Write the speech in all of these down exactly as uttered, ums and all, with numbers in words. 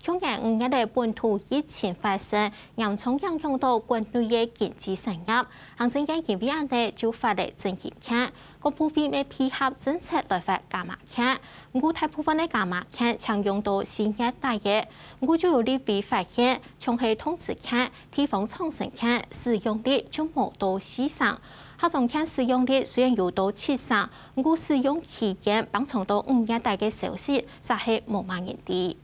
舊年五月个本土疫情發生，嚴重影響到國內个經濟產業。行政院因為恁呢就發了振興券，各部會乜配合政策來發加碼券。毋過大部分个加碼券淨用到四月底个。毋過就有立委發現，像係通知券、地方創生券使用率就無到四成。客庄券使用率雖然有到七成，毋過使用期間放長到五月底个消息，實係無麼人知。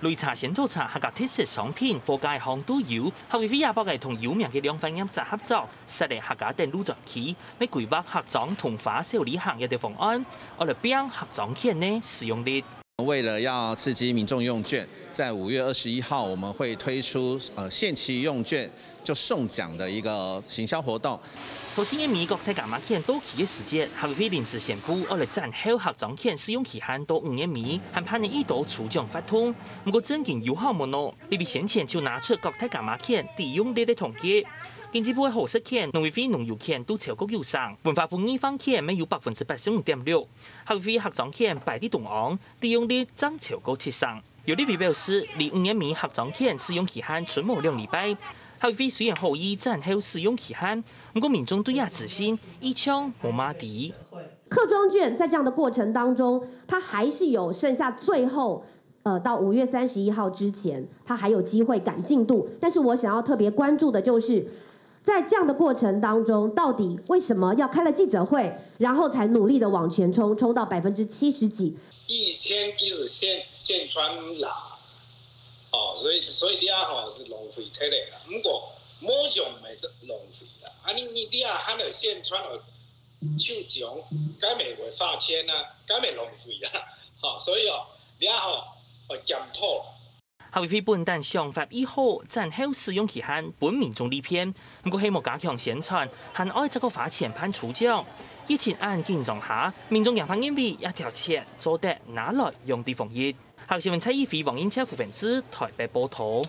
擂茶、仙草茶、客家特色商品，貨架項都有。客委會也幫个同有名个量販業者合作，設立客家等路專區，乜規劃客庄同花小旅行一个方案，愛來拚客庄券个使用率。為了要刺激民眾用券，在五月二十一號我們會推出呃限期用券，就送獎的一個行銷活動。到四月尾國泰加碼券到期个時節，客委會臨時宣布，愛來延後客庄券使用期限到五月尾，還辦理一到抽獎活動。毋過正經有效無呢？立委先前就拿出國泰加碼券抵用率个統計，經濟部个好食券、農委會農遊券都超過九成，文化部藝方券乜有百分之八十五點六，客委會客庄券排在中央，抵用率正超過七成。 有立委表示，離五月尾客庄券使用期限賰無兩禮拜，客委會雖然好意延後使用期限，毋過民眾對這資訊一向無麼知。客庄券在這樣的過程當中，它還是有剩下最後，呃，到五月三十一號之前，它還有機會趕進度。但是我想要特別關注的就是，在這樣的過程當中，到底為什麼要開了記者會，然後才努力的往前衝，衝到百分之七十幾？一千幾是宣宣傳啦，哦，所以所以你啊吼是浪費忒个啦。毋過無用咪浪費啦，啊你你你啊還來宣傳哦，抽獎，該咪會花錢啊，該咪浪費啊，吼，所以哦，你啊吼愛檢討。 客委會本旦想法已好，延後使用期限分民眾利便，毋過係無加強宣傳，還愛再過花錢辦抽獎。疫情恁緊張下，民眾也怕認為這條錢做得拿來用在防疫。客委會蔡一輝、王英超、胡文志台北報導。